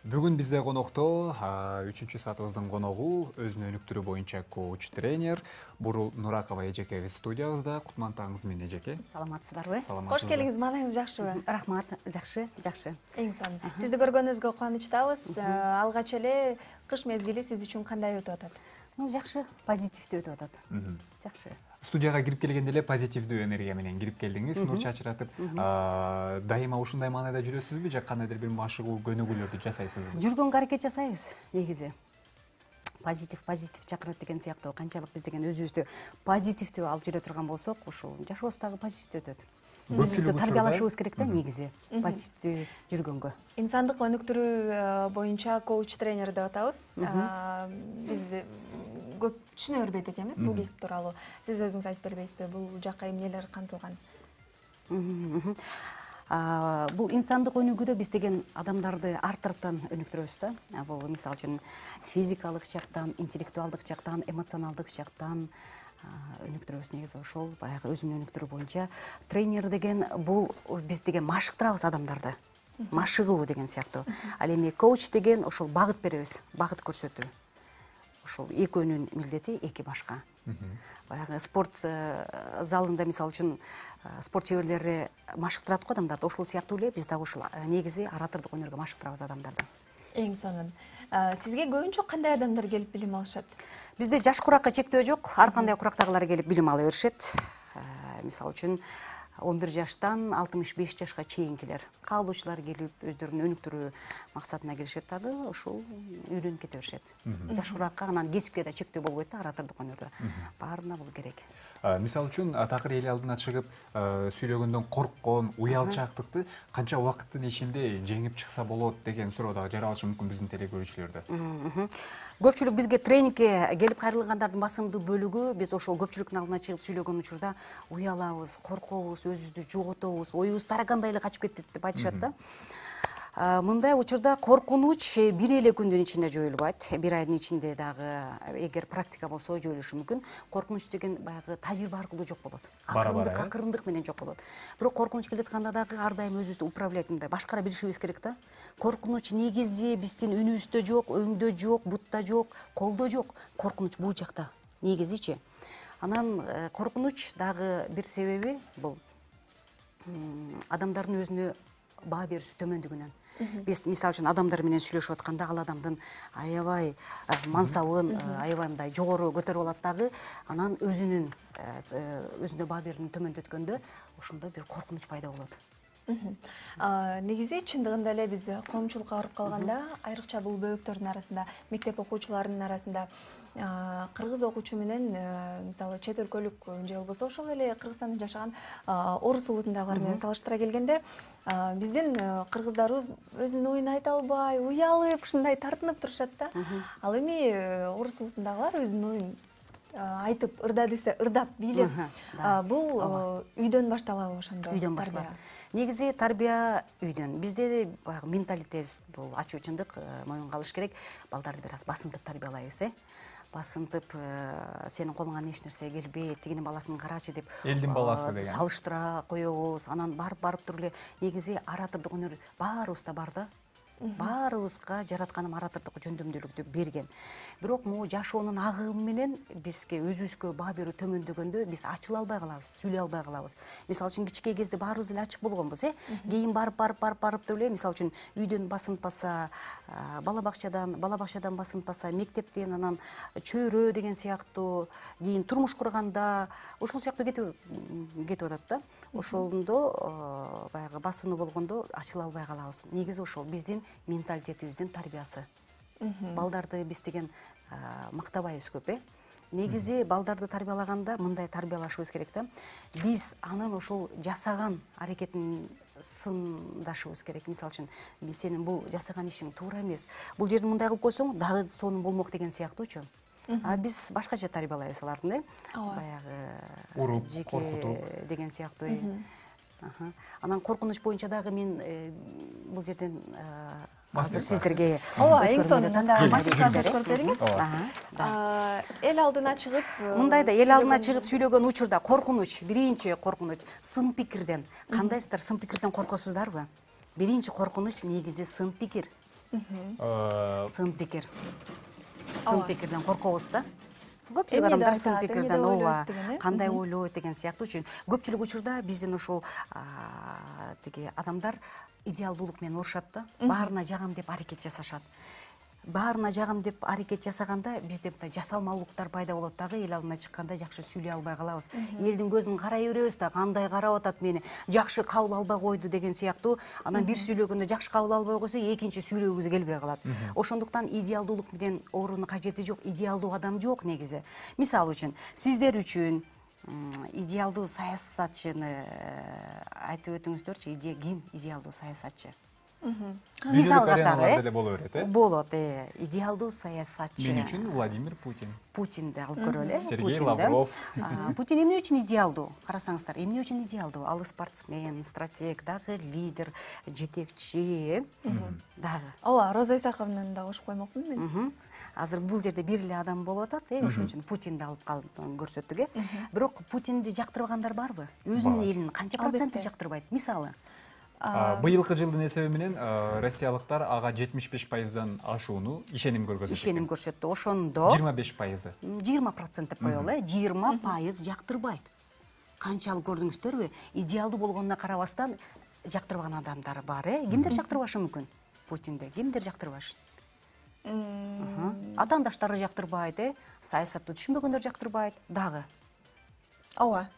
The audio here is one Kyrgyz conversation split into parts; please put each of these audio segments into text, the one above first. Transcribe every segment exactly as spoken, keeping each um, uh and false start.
Бүгүн бизде конокто үчүнчү саатыбыздын коногу өзүнүн өнүктүрүү боюнча коуч тренер Бурул Нуракова эжекебиз студиябызда. Кутмандтаңыз менен эжеке. Саламатсыздарбы? Кош келиңиз, маанайыңыз жакшыбы? Рахмат, жакшы, жакшы. Эң сонун. Сизди көргөнүбүзгө кубанычтабыз. Алгач эле кыш мезгили сиз үчүн кандай өтүп атат? Ну, жакшы, позитивдүү өтүп атат. Жакшы. Студияга кирип келгенде эле позитивдүү энергия менен кирип келдиңиз, нур чачыратып. Дайыма ушундай маанайда жүрөсүзбү же кандайдыр бир машыгуу көнүгүүлөрдү жасайсызбы? Жүргөнгө аракет жасайбыз, негизи. Позитив, позитив чакырат деген сыяктуу. Канчалык биз деген өзүбүздү позитивдүү алып жүрө турган болсок, ушул жашообуз дагы позитивдүү өтөт. Өзүбүздү тарбиялашыбыз керек да, негизи, позитивдүү жүргөнгө. Инсандык өнүктүрүү боюнча коуч тренер деп атабыз. Биз көп түшүнө бербейт экенбиз бул кесип тууралуу. Сиз өзүңүз айтып бербейсизби, бул жакка эмнелер кантылган? Бул инсандык өнүгүүдө биз деген адамдарды ар тараптан өнүктүрөбүз да. Бул мисалы үчүн физикалык жактан, интеллектуалдык жактан, эмоционалдык жактан өнүктүрөбүз. Негизи ошол баягы өзүн өнүктүрүү боюнча тренер деген бул биз деген машыктырабыз адамдарды. Машыгуу деген сыяктуу. Ал эми коуч деген ошол багыт беребиз, багыт көрсөтүү. Ошол экөөнүн милдети эки башка. Баягы спорт залында мисалы үчүн спорт чеберлери машыктырат го адамдарды. Ошол сыяктуу эле биз дагы ушул негизи оратордук өнөргө машыктырабыз адамдарды. Эң сонун. Сизге көбүнчө кандай адамдар келип билим алышат? Бизде жаш куракка чектөө жок. Ар кандай курактагылар келип билим ала беришет. Мисалы үчүн он бир жаштан алтымыш беш жашка чейинкилер, каалоочулар келип өздөрүн өнүктүрүү максатына келишет дагы, ошол үйрөнүп кете беришет. Жаш куракка анан кесипке да чектөө болбойт да, оратордук өнөрдө. Баарына бул керек. Мисалы үчүн такыр эл алдына чыгып сүйлөгөндөн корккон, уялчаактыкты канча убакыттын ичинде жеңип чыкса болот деген суроо дагы жаралышы мүмкүн биздин теле көрүүчүлөрдө. Көпчүлүк бизге тренингке келип кайрылгандардын басымдуу бөлүгү биз ошол көпчүлүктүн алдына чыгып сүйлөгөн учурда уялабыз, коркобуз, өзүбүздү жоготобуз, оюбуз тарагандай эле качып кетет деп айтышат да. Мындай учурда коркунуч бир эле күндүн ичинде жоюлбайт. Бир айдын ичинде дагы эгер практика болсо жоюлушу мүмкүн. Коркунуч деген баягы тажрыйба аркылуу жок болот. Акырындык, акырындык менен жок болот. Бирок коркунуч келатканда дагы ар дайым өзүбүздү управлять мындай башкара билишибиз керек да. Коркунуч негизи биздин үнүбүздө жок, өңдө жок, бутта жок, колдо жок. Коркунуч бул жакта. Негизичи. Анан коркунуч дагы бир себеби бул адамдардын өзүнө баа берүүсү төмөндүгүнөн. Биз мисалы үчүн адамдар менен сүйлөшүп атканда ал адамдын аябай мансабын, аябай мындай жогору көтөрүп алат дагы, анан өзүнүн өзүнө баа берүүнү төмөндөткөндө ошондо бир коркунуч пайда болот. Негизи чындыгында эле биз коомчулукка барып калганда, айрыкча бул бөбөктөрдүн арасында, мектеп окуучуларынын арасында кыргыз окуучу менен мисалы чет өлкөлүк же болбосо ошол эле Кыргызстанда жашаган орус улутундагылар менен салыштыра келгенде биздин кыргыздарыбыз өзүнүн оюн айта албай, уялып, ушундай тартынып турушат да. Ал эми орус улутундагылар өзүнүн оюн айтып, ырда десе ырдап, бийлеп. Бул үйдөн башталабы ошондо? Үйдөн башталат. Негизи тарбия үйдөн. Бизде баягы менталитет бул ачуу чындык моюнга алыш керек. Балдарды бир аз басынтып тарбиялайбыз, э? Басынтып, сенин колуңан эч нерсе келбейт, тигинин баласын карачы деп элдин баласы деген салыштыра коебуз. Анан барып барып туруп эле негизи оратордук өнөр баарыбызда бар да. Баарыбызга жаратканым оратордук жөндөмдүүлүктү берген. Бирок могу жашоонун агымы менен бизге өзүбүзгө баа берүү төмөндөгөндө биз ачыла албай калабыз, сүйлөй албай калабыз. Мисалы үчүн кичинекей кезде баарыбыз эле ачык болгонбуз, э? Кийин барып барып барып барып деп эле мисалы үчүн үйдөн басынтпаса, бала бакчадан, бала бакчадан басынтпаса, мектептен, анан чөйрө деген сыяктуу, кийин турмуш курганда ошол сыяктуу кетип кетип атат да. Ошондо баягы басууну болгондо ачыла албай калабыз. Негизи ошол биздин менталитетибиздин тарбиясы. Балдарды биз деген мактабайбыз көп, э? Негизи балдарды тарбиялаганда мындай тарбиялашыбыз керек да. Биз анын ошол жасаган аракетин сындашыбыз керек. Мисалы үчүн, биз сенин бул жасаган ишиң туура эмес. Бул жерди мындай кылып койсоң, дагы сонун болмок деген сыяктуучу. А биз башкача тарбиялайбыз алардын, э? Баягы уруп, коркутуп деген сыяктуу. Анан коркунуч боюнча дагы мен бул жерден азыр сиздерге ооба, эң сонун мастер-класс көрүп бериңиз. Эл алдына чыгып, мындай да эл алдына чыгып сүйлөгөн учурда коркунуч, биринчи коркунуч сын пикирден. Кандайсыздар сын пикирден коркосуздарбы? Биринчи коркунуч негизи сын пикир. сын пикир. Сын пикирден коркобуз да. Көпчүлүк Эмне адамдар деп сын айтат, пикирден эмне деп ооба, ойлойт деген, э? кандай ойлойт деген сыяктуу үчүн көпчүлүк учурда биздин ушул тиги адамдар идеалдуулук менен урушат да. Баарына жагам деп аракет жасашат. Баарына жагам деп аракет жасаганда бизде мындай жасалмалуулуктар пайда болот дагы, эл алдына чыкканда жакшы сүйлөй албай калабыз. Элдин көзүн карай беребиз да, кандай карап атат мени, жакшы кабыл албай койду деген сыяктуу. Анан бир сүйлөгөндө жакшы кабыл албай койсо, экинчи сүйлөгүбүз келбей калат. Ошондуктан идеалдуулук менен оорунун кажети жок, идеалдуу адам жок негизи. Мисалы үчүн, сиздер үчүн идеалдуу саясатчыны айтып өтүңүздөрчү, ким идеалдуу саясатчы? Мисал катары деле боло берет, э? Болот, э. Идеалдуу саясатчы. Мен үчүн Владимир Путин. Путинди алып көрөлү, э? Сергей Лавров. Путин эмне үчүн идеалдуу? Карасаңыздар, эмне үчүн идеалдуу? Ал спортсмен, стратег, дагы лидер, жетекчи, дагы. Ооба, Роза Исаковнаны да кошуп коймокмун мен. Азыр бул жерде бир эле адам болуп атат, э, ошон үчүн Путинди алып көрсөттүк, э. Бирок Путинди жактырбагандар барбы? Өзүнүн элин канча проценти жактырбайт? Мисалы, Быйылкы жылдын эсеби менен россиялыктар ага жетимиш беш пайыздан ашууну ишеним көргөзүп ишеним көрсөттү. Ошондо жыйырма беш пайызы. жыйырма процент деп коелу, э, жыйырма пайыз жактырбайт. Канчалык көрдүңүздөрбү? Идеалдуу болгонуна карабастан жактырбаган адамдар бар, э. Кимдер жактырбашы мүмкүн? Путинди кимдер жактырбашы? Атаандаштары жактырбайт, э. Саясатты түшүнбөгөндөр жактырбайт, дагы. Ооба.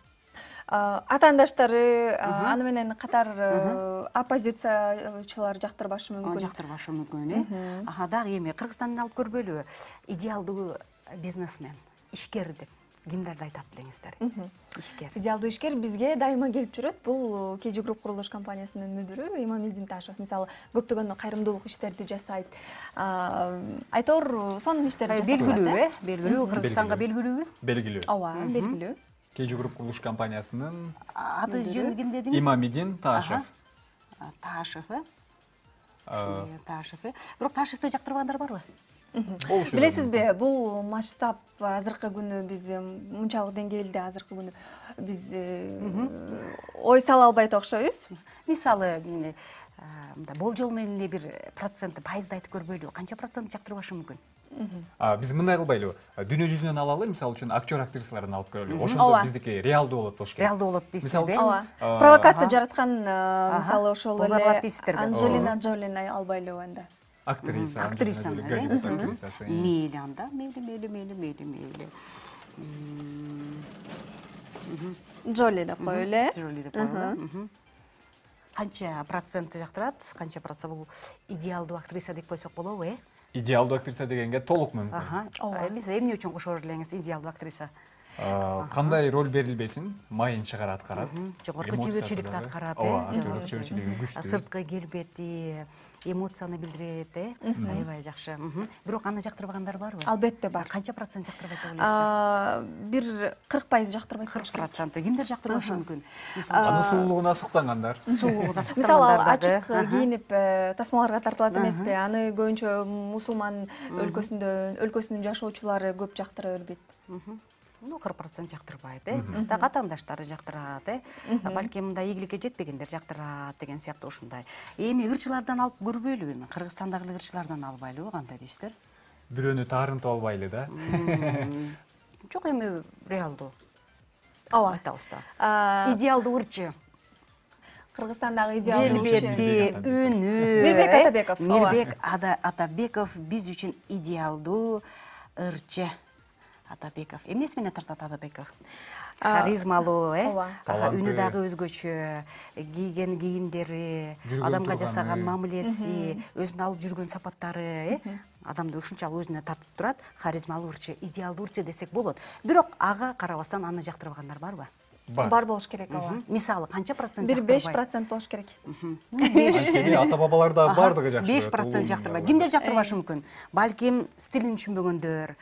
Атаандаштары, аны менен катар оппозициячылар жактырбашы мүмкүн. Жактырбашы мүмкүн, э. Аха, дагы эми Кыргызстанды алып көрбөйлүбү? Идеалдуу бизнесмен, ишкер деп кимдерди айтат билеңиздер? Ишкер. Идеалдуу ишкер бизге дайыма келип жүрөт. Бул кей жи Групп курулуш компаниясынын мүдүрү Имам Эзимташев. Мисалы, көптөгөн кайрымдуулук иштерди жасайт. Айтор сонун иштерди жасайт. Белгилүү, э? Белгилүү, Кыргызстанга белгилүүбү? Белгилүү. Ооба, белгилүү. кей жи Групп курулуш компаниясынын аты жөнү ким дедиңиз? Имамидин Таашев. Таашев, э? Таашев, э? Бирок Таашевди жактырбагандар барбы? Билесизби, бул масштаб азыркы күнү биз мынчалык деңгээлде азыркы күнү биз ой сала албайт окшойбуз. Мисалы, мындай болжол менен эле бир процентти, пайызды айтып көрбөйлүбү? Канча процент жактырбашы мүмкүн? Биз мындай кылбайлыбы? Дүйнө жүзүнөн алалы, мисалы үчүн актер актрисаларын алып көрөлү. Ошондо биздики реалдуу болот болуш керек. Реалдуу болот дейсизби? Ооба. Провокация жараткан, мисалы ошол эле Анджелина Джолини албайлыбы анда? Актриса. Актриса. Актрисасы. Мейли анда, мейли, мейли, мейли, мейли, мейли. Джоли деп коелу, э? Джоли деп коелу. Канча проценти жактырат? Канча процент бул идеалдуу актриса деп койсок болобу, э? Идеалдуу актриса дегенге толук мүмкүн. Ага. Биз эмне үчүн кошо элеңиз идеалдуу актриса? Кандай роль берилбесин, майын чыгара аткарат. Жогорку чеберчиликти аткарат, э? Ооба, актерлук чеберчилиги күчтүү. Сырткы келбети, эмоцияны билдирет, э? Аябай жакшы. Бирок аны жактырбагандар барбы? Албетте бар. Канча процент жактырбайт деп ойлойсуздар? Бир кырк пайыз жактырбайт. кырк процент. Кимдер жактырбашы мүмкүн? Аны сулуулугуна суктангандар. Сулуулугуна Мисалы, суктангандар ал дагы. ачык кийинип тасмаларга тартылат эмеспи? Аны көбүнчө мусулман өлкөсүндө өлкөсүнүн жашоочулары көп жактыра бербейт. Ну, кырк процент жактырбайт, э? Так атаандаштары жактырат, э? Балким мындай ийгиликке жетпегендер жактырат деген сыяктуу ушундай. Эми ырчылардан алып көрбөйлүбү? Кыргызстандагы ырчылардан албайлыбы? Кандай дейсиздер? Бирөөнү таарынтып албайлы да. Жок, эми реалдуу. Ооба. Айтабыз да. Идеалдуу ырчы. Кыргызстандагы идеалдуу келбети, үнү. Мирбек Атабеков. Мирбек Атабеков биз үчүн идеалдуу ырчы. Атабеков. Эмнеси менен тартат Атабеков? Харизмалуу, э? Үнү дагы өзгөчө, кийген кийимдери, адамга жасаган мамилеси, өзүнө алып жүргөн сапаттары, э? Адамды ушунчалык өзүнө тартып турат. Харизмалуу ырчы, идеалдуу ырчы десек болот. Бирок ага карабастан аны жактырбагандар барбы? Бар болуш керек, ооба. Мисалы, канча процент бир жактырбайт? беш процент болуш керек. Анткени ата-бабаларда баардыгы жакшы. беш процент жактырбайт. Кимдер жактырбашы мүмкүн? Балким стилин түшүнбөгөндөр,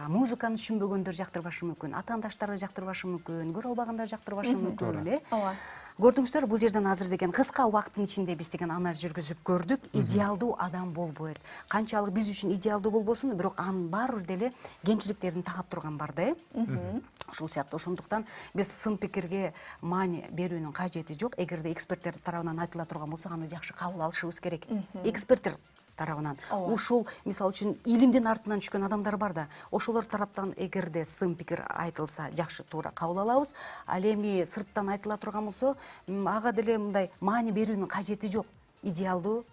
музыканы түшүнбөгөндөр жактырбашы мүмкүн, атаандаштары жактырбашы мүмкүн, көрө албагандар жактырбашы мүмкүн, э? Ооба. Көрдүңүздөр, бул жерден азыр деген кыска убакыттын ичинде биз деген анализ жүргүзүп көрдүк. Идеалдуу адам болбойт. Канчалык биз үчүн идеалдуу болбосун, бирок анын баары бир деле кемчиликтерин тагап турган бар да, э? Ушул сыяктуу. Ошондуктан биз сын пикирге маани берүүнүн кажети жок. Эгерде эксперттер тарабынан айтыла турган болсо, аны жакшы кабыл алышыбыз керек. Эксперттер тарабынан. Ушул мисалы үчүн илимдин артынан түшкөн адамдар бар да, ошолор тараптан эгерде сын пикир айтылса жакшы, туура кабыл алабыз. Ал эми сырттан айтыла турган болсо, ага деле мындай маани берүүнүн кажети жок. Идеалдуу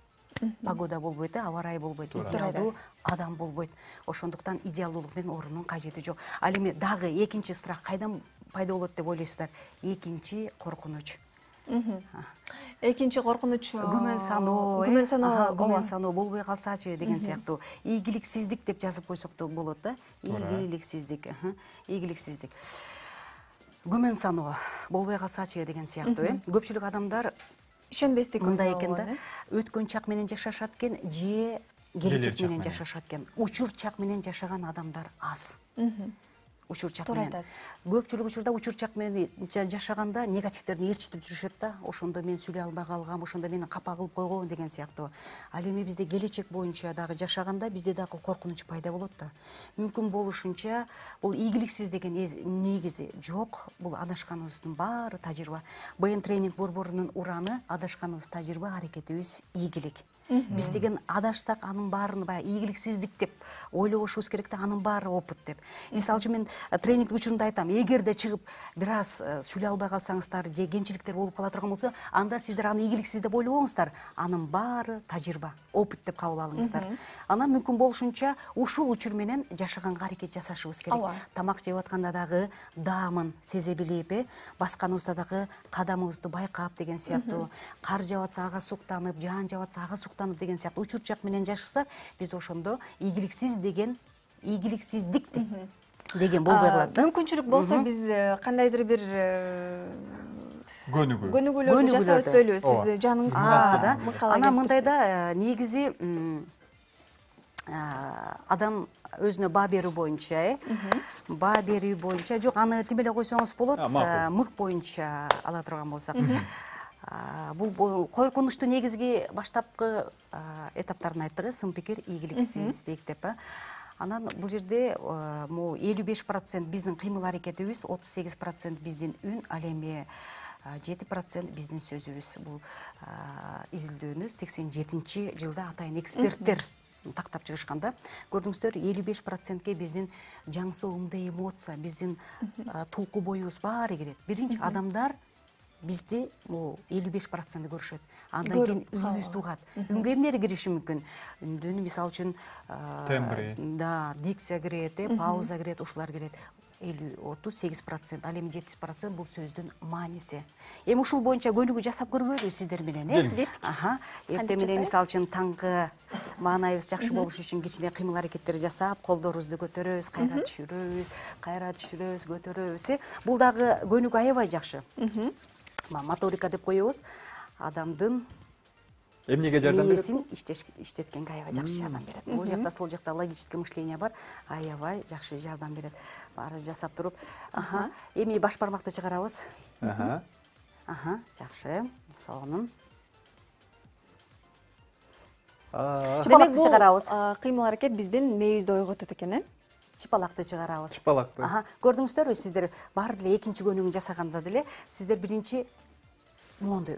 погода болбойт, аба ырайы болбойт, идеалдуу адам болбойт. Ошондуктан идеалдуулук менен орунун кажети жок. Ал эми дагы экинчи страх кайдан пайда болот деп ойлойсуздар? Экинчи коркунуч. Экинчи коркунуч күмөн саноо, күмөн саноо, күмөн саноо болбой калсачы деген сыяктуу. Ийгиликсиздик деп жазып койсок да болот да. Ийгиликсиздик, ийгиликсиздик. Күмөн саноо болбой калсачы деген сыяктуу, э. Көпчүлүк адамдар ишенбестик мындай экен да. Өткөн чак менен жашашат экен, же келечек менен жашашат экен. Учур чак менен жашаган адамдар аз. Учур чак менен. Көпчүлүк учурда учур чак менен жашаганда негативтерин ээрчитип жүрүшөт да. Ошондо мен сүйлөй албай калгам, ошондо мени капа кылып койгон деген сыяктуу. Ал эми бизде келечек боюнча дагы жашаганда бизде дагы коркунуч пайда болот да. Мүмкүн болушунча бул ийгиликсиз деген негизи жок. Бул адашканыбыздын баары тажрыйба. БН тренинг борборунун ураны адашканыбыз тажрыйба, аракетибиз ийгилик. Биз деген адашсак анын баарын баягы ийгиликсиздик деп ойлобошубуз керек да, анын баары опыт деп. Мисалы үчүн мен тренинг учурунда айтам, эгерде чыгып бир аз сүйлөй албай калсаңыздар же кемчиликтер болуп кала турган болсо, анда сиздер аны ийгиликсиз деп ойлобоңуздар. Анын баары тажрыйба, опыт деп кабыл алыңыздар. Анан мүмкүн болушунча ушул учур менен жашаганга аракет жасашыбыз керек. Тамак жеп атканда дагы даамын сезе билип, э, басканыбызда дагы кадамыбызды байкап деген сыяктуу. Кар жаап атса ага суктанып, жаан жаап атса ага суктанып деген сыяктуу учур чак менен жашасак, биз ошондо ийгиликсиз деген ийгиликсиздик деген болбой калат да. Мүмкүнчүлүк болсо биз кандайдыр бир көнүгүү көнүгүүлөрдү жасап өтпөйлү, сиз жаныңызга да. Анан мындай да, негизи адам өзүнө баа берүү боюнча, э, баа берүү боюнча, жок, аны тим эле койсоңуз болот, мык боюнча ала турган болсак. Бул коркунучту негизги баштапкы этаптарын айттык, сын пикир, ийгиликсиздик деп. Анан бул жерде могу элүү беш процент биздин кыймыл аракетибиз, отуз сегиз процент биздин үн, ал эми жети процент биздин сөзүбүз. Бул изилдөөнү сексен жетинчи жылда атайын эксперттер тактап чыгышканда, көрдүңүздөр, элүү беш процентке биздин жаңсоо ымды эмоция, биздин тулку боюбуз баары кирет. Биринчи адамдар бизди элүү беш процент көрүшөт. Андан кийин үнүбүздү угат. Үнгө эмнери кириши мүмкүн? Үндүн мисалы үчүн тембри, да, дикция кирет, пауза кирет, ушулар кирет. элүү отуз сегиз процент, ал эми жетимиш процент бул сөздүн мааниси. Эми ушул боюнча көнүгүү жасап көрбөйлүбү сиздер менен, э? Аха. Эртең менен мисалы үчүн таңкы маанайыбыз жакшы болуш үчүн кичине кыймыл аракеттер жасап, колдорубузду көтөрөбүз, кайра түшүрөбүз, кайра түшүрөбүз, көтөрөбүз, э? Бул дагы көнүгүү аябай жакшы. Моторика деп коебуз. Адамдын эмнеге жардам берет? Мээсин иштеткенге аябай жакшы жардам берет. Бул жакта, сол жакта логическое мышление бар, аябай жакшы жардам берет. Баары жасап туруп, аха, эми баш бармакты чыгарабыз. Аха. Аха, жакшы. Сонун. Чыпалакты чыгарабыз. Кыймыл аракет биздин мээбизди ойготот экен, э? Чыпалакты чыгарабыз. Чыпалакты. Аха, көрдүңүздөрбү, сиздер баары деле экинчи көнүгүүнү жасаганда деле сиздер биринчи моунду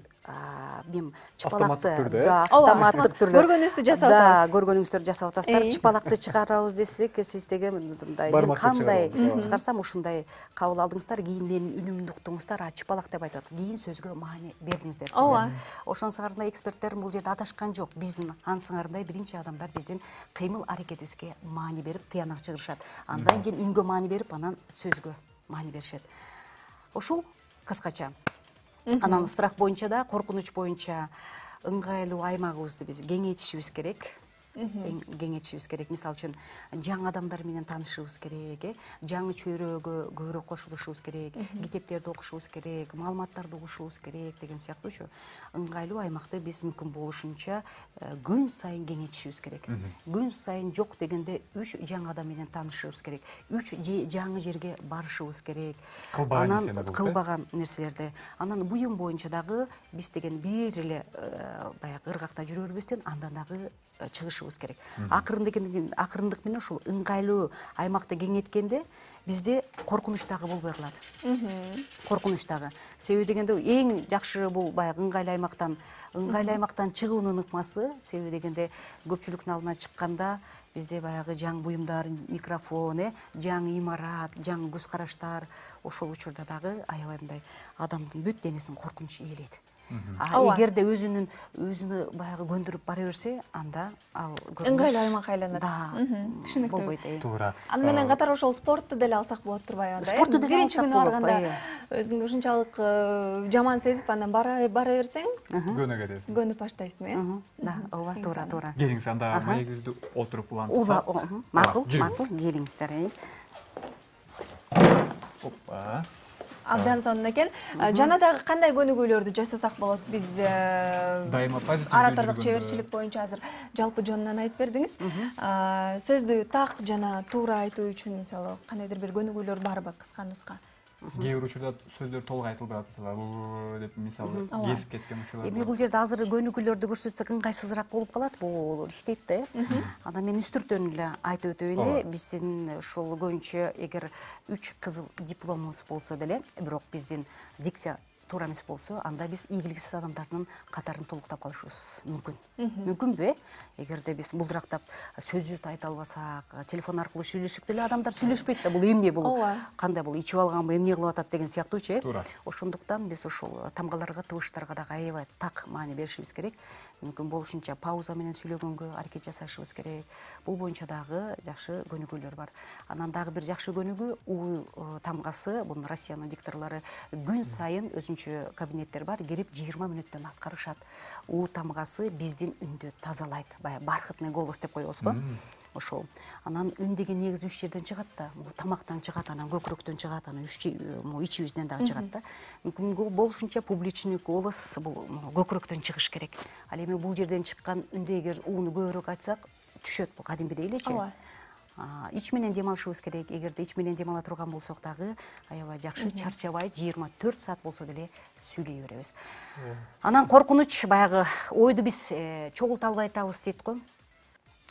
мен чыпалакты да, автоматтык түрдө көргөнүңүздү жасап атабыз. Да, көргөнүңүздөрдү жасап атасыздар. Чыпалакты чыгарабыз десек, сиз деген мындай мен кандай чыгарсам ушундай кабыл алдыңыздар, кийин менин үнүмдү уктуңуздар, а чыпалак деп айтат. Кийин сөзгө маани бердиңиздер сиздер. Ошон сыңарындай эксперттерим бул жерде адашкан жок. Биздин ан сыңарындай биринчи адамдар биздин кыймыл аракетибизге маани берип, тыянак чыгарышат. Андан кийин үнгө маани берип, анан сөзгө маани беришет. Ушул кыскача. Анан страх боюнча да, коркунуч боюнча ыңгайлуу аймагыбызды биз кеңейтишибиз керек. Кеңейтишибиз керек. Мисалы үчүн жаңы адамдар менен таанышыбыз керек, э? Жаңы чөйрөгө көбүрөөк кошулушубуз керек, китептерди окушубуз керек, маалыматтарды угушубуз керек деген сыяктуучу. Ыңгайлуу аймакты биз мүмкүн болушунча күн сайын кеңейтишибиз керек. Күн сайын жок дегенде үч жаңы адам менен таанышыбыз керек. үч жаңы жерге барышыбыз керек. Анан кылбаган нерселерди. Анан буюм боюнча дагы биз деген бир эле баягы ыргакта жүрө бербестен, андан дагы чыгышыбыз керек. Акырындык акырындык менен ушул ыңгайлуу аймакты кеңейткенде бизде коркунуч дагы болбой калат. Коркунуч дагы. Себеби дегенде эң жакшы бул баягы ыңгайлуу аймактан ыңгайлуу аймактан чыгуунун ыкмасы. Себеби дегенде көпчүлүктүн алдына чыкканда бизде баягы жаңы буюмдар, микрофон, э, жаңы имарат, жаңы көз караштар, ошол учурда дагы аябай мындай адамдын бүт денесин коркунуч ээлейт. А эгерде өзүнүн өзүнө баягы көндүрүп бара берсе, анда ал ыңгайлуу аймак айланат. Да, түшүнүктүү. болбойт. Туура. Аны менен катар ошол спортты деле алсак болот турбайбы анда? Спорту деле биринчи алсак күнү болот, барганда өзүңдү ушунчалык жаман сезип, андан бара бара берсең, Көнө кетесиң. көнүп баштайсың, э? Да, ооба, туура, туура. Келиңиз, анда маегибизди олтуруп Ула, улантсак. макул, жүрүңүз. макул, келиңиздер. Опа. Абдан сонун экен. Жана дагы кандай көнүгүүлөрдү жасасак болот? Биз Дайыма позитив аратырлык көнүгүүгө. чеберчилик боюнча азыр жалпы жонунан айтып бердиңиз. Сөздү так жана туура айтуу үчүн мисалы кандайдыр бир көнүгүүлөр барбы, кыска нуска? Кээ бир учурда сөздөр толук айтылбай атат, мисалы деп мисалы кесип кеткен учурлар. Эми бул жерде азыр көнүгүүлөрдү көрсөтсөк ыңгайсызыраак болуп калат. Бул иштейт да, э. Анан мен үстүртөн эле айтып өтөйүн эле. Биздин ушул көбүнчө эгер үч кызыл дипломубуз болсо деле, бирок биздин дикция туура эмес болсо, анда биз ийгиликсиз адамдардын катарын толуктап калышыбыз мүмкүн. Мүмкүнбү, э? Эгерде биз булдырактап сөзүбүздү айта албасак, телефон аркылуу сүйлөшсөк деле адамдар сүйлөшпөйт да, бул эмне, бул кандай, бул ичип алганбы, эмне кылып атат деген сыяктуучу, э? Ошондуктан биз ошол тамгаларга, тыбыштарга дагы аябай так маани беришибиз керек. Мүмкүн болушунча пауза менен сүйлөгөнгө аракет жасашыбыз керек. Бул боюнча дагы жакшы көнүгүүлөр бар. Анан дагы бир жакшы көнүгүү У тамгасы, бул Россиянын дикторлору күн сайын өзүнчө кабинеттер бар, кирип жыйырма мүнөттөн аткарышат. У тамгасы биздин үндү тазалайт. Баягы бархатный голос деп коебуз го. Ошол. Анан үн деген негизи үч жерден чыгат да. Бул тамактан чыгат, анан көкүрөктөн чыгат, анан ичибизден дагы чыгат да. Мүмкүн болушунча публичный голос бул көкүрөктөн чыгыш керек. Ал эми бул жерден чыккан үндү эгер ууну көбүрөөк айтсак, түшөт бул кадимгидей элечи. Ич менен дем алышыбыз керек. Эгерде ич менен дем ала турган болсок дагы аябай жакшы, чарчабай жыйырма төрт саат болсо деле сүйлөй беребиз. Анан коркунуч, баягы ойду биз чогулта албай атабыз дейт го.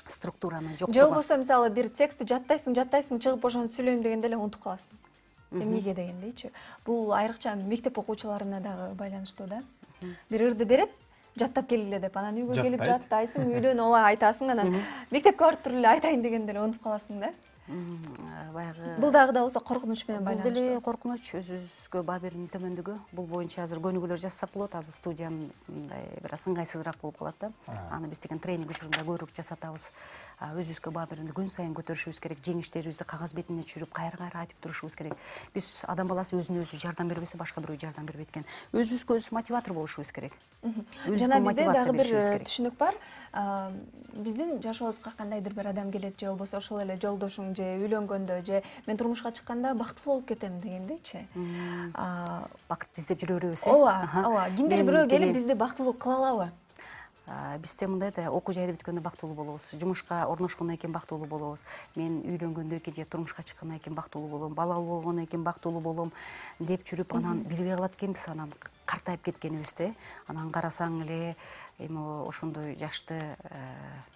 Структураны жоктугу. Же болбосо мисалы бир текстти жаттайсың, жаттайсың, чыгып ошону сүйлөйм дегенде эле унутуп каласың. Эмнеге дегендейчи. Бул айрыкча мектеп окуучуларына дагы байланыштуу да. Бир ырды берет, жаттап келгиле деп, анан үйгө келип жаттайсың, үйдөн ооба айтасың, анан мектепке барып туруп эле айтайын дегенде эле унутуп каласың да. Баягы Бул дагы да болсо коркунуч менен байланыштуу. Бул деле коркунуч, өзүбүзгө баа берүүнүн төмөндүгү. Бул боюнча азыр көнүгүүлөр жасасак болот. Азыр студиянын мындай бир аз ыңгайсызыраак болуп калат да. Аны биз деген тренинг учурунда көбүрөөк жасатабыз. Өзүбүзгө баа берүүнү күн сайын көтөрүшүбүз керек. Жеңиштерибизди кагаз бетине түшүрүп, кайра-кайра айтып турушубуз керек. Биз адам баласы өзүнө өзү жардам бербесе, башка бирөө жардам бербейт экен. Өзүбүзгө өзү мотиватор болушубуз керек. Жана бизде дагы бир түшүнүк бар. Биздин жашообузга кандайдыр бир адам келет, же болбосо ошол эле жолдошуң, же үйлөнгөндө, же мен турмушка чыкканда бактылуу болуп кетем дегендейчи. Бакыт издеп жүрө беребиз, э? Ооба, ооба. Кимдир бирөө келип бизди бактылуу кыла алабы? Бизде мындай да, окуу жайды бүткөндө бактылуу болобуз, жумушка орношкондон кийин бактылуу болобуз. Мен үйлөнгөндөн кийин же турмушка чыккандан кийин бактылуу болом, балалуу болгондон кийин бактылуу болом деп жүрүп, анан билбей калат экенбиз, анан картайып кеткенибизди. Анан карасаң эле эми ошондой жашты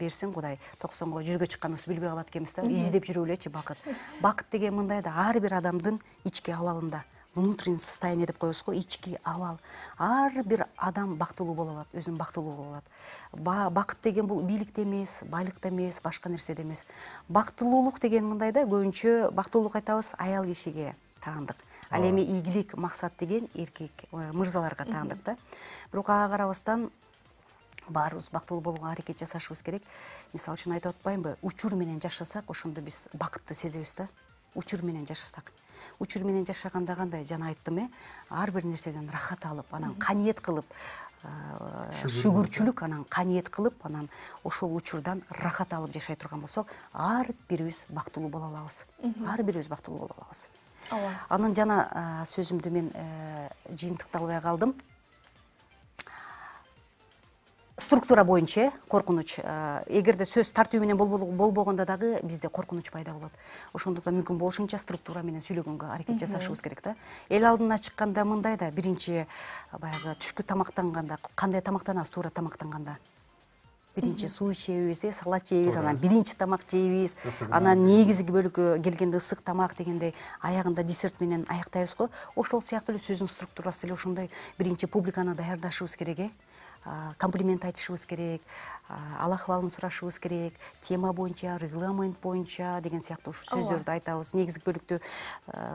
берсин Кудай, токсонго жүзгө чыкканыбызды билбей калат экенбиз да. Издеп жүрүп элечи бакыт. Бакыт деген мындай да, ар бир адамдын ички абалында. Внутреннее состояние деп коебуз го, ички абал. Ар бир адам бактылуу боло алат, өзүн бактылуу боло алат. Бакыт деген бул бийликте эмес, байлыкта эмес, башка нерседе эмес. Бактылуулук деген мындай да, көбүнчө бактылуулук айтабыз аял кишиге таандык. Ал эми ийгилик, максат деген эркек мырзаларга таандык да. Бирок ага карабастан баарыбыз бактылуу болууга аракет жасашыбыз керек. Мисалы үчүн айтып атпаймынбы, учур менен жашасак, ошондо биз бакытты сезебиз да. Учур менен жашасак. Учур менен жашаганда кандай, жана айттым, э, ар бир нерседен рахат алып, анан каниет кылып, шүгүрчүлүк, анан каниет кылып, анан ошол учурдан рахат алып жашай турган болсок, ар бирибиз бактылуу боло алабыз. Ар бирибиз бактылуу боло алабыз. Ооба. Анан жана сөзүмдү мен жыйынтыктай албай калдым. Структура боюнча коркунуч, эгерде сөз тартуу менен болбогондо дагы бизде коркунуч пайда болот. Ошондуктан мүмкүн болушунча структура менен сүйлөгөнгө аракет жасашыбыз керек да. Эл алдына чыкканда мындай да, биринчи баягы түшкү тамактанганда кандай тамактанабыз, туура тамактанганда? биринчи суу ичебиз, э, салат жейбиз, анан биринчи тамак жейбиз, Ысыгынан анан негизги бөлүккө келгенде ысык тамак дегендей аягында десерт менен аяктайбыз го. Ошол сыяктуу эле сөздүн структурасы эле ошондой. Биринчи публиканы даярдашыбыз керек, э. Комплимент айтышыбыз керек, ал акыбалын сурашыбыз керек, тема боюнча, регламент боюнча деген сыяктуу ушу сөздөрдү айтабыз. Негизги бөлүктө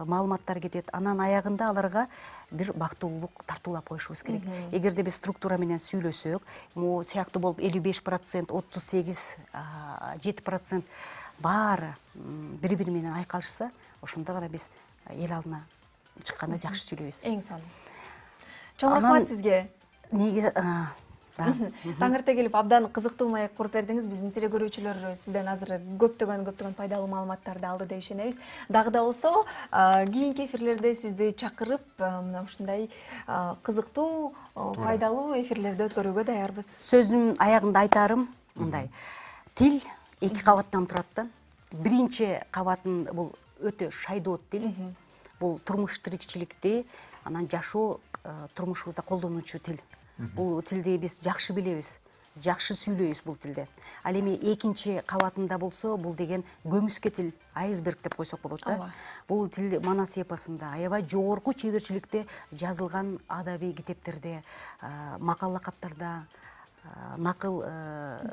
маалыматтар кетет. Анан аягында аларга бир бактылуулук тартуулап коюшубуз керек. Эгерде биз структура менен сүйлөсөк, могу сыяктуу болуп элүү беш процент, отуз сегиз, жети процент баары бири-бири менен айкалышса, ошондо гана биз эл алдына чыкканда жакшы сүйлөйбүз. Эң сонун. Чоң рахмат сизге. Неге Таң эрте келип абдан кызыктуу маек куруп бердиңиз. Биздин телекөрүүчүлөр сизден азыр көптөгөн көптөгөн пайдалуу маалыматтарды алды деп ишенебиз. Дагы да болсо, кийинки эфирлерде сизди чакырып, мына ушундай кызыктуу, пайдалуу эфирлерди өткөрүүгө даярбыз. Сөзүмдүн аягында айтарым мындай. Тил эки кабаттан турат да. Биринчи кабатын бул өтө шайдоот тил. Бул турмуш тирикчиликти, анан жашоо турмушубузда колдонуучу тил. Бул тилди биз жакшы билебиз, жакшы сүйлөйбүз бул тилде. Ал эми экинчи кабатында болсо, бул деген көмүскө тил, айсберг деп койсок болот да. Бул тил манас эпосунда, аябай жогорку чеберчиликте жазылган адабий китептерде, макал лакаптарда, накыл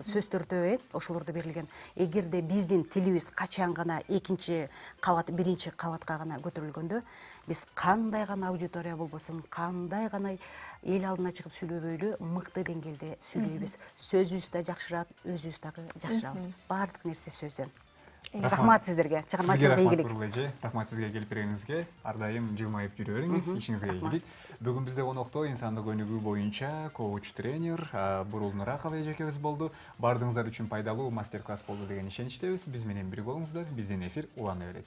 сөздөрдө, ошолордо берилген. Эгерде биздин тилибиз качан гана экинчи кабат, биринчи кабатка гана көтөрүлгөндө, биз кандай гана аудитория болбосун, кандай гана эл алдына чыгып сүйлөбөйлү мыкты деңгээлде сүйлөйбүз. Сөзүбүз да жакшырат, өзүбүз дагы жакшырабыз. Баардык нерсе сөздөн. Рахмат сиздерге. Чыгармачылык ийгилик. Рахмат сизге келип бергениңизге. Ар дайым жылмайып жүрө бериңиз, ишиңизге ийгилик. Бүгүн бизде конокто инсандык өнүгүү боюнча коуч тренер Бурул Нуракова эжекебиз болду. Бардыгыңыздар үчүн пайдалуу мастер-класс болду деген ишеничтебиз. Биз менен бирге болуңуздар. Биздин эфир улана берет.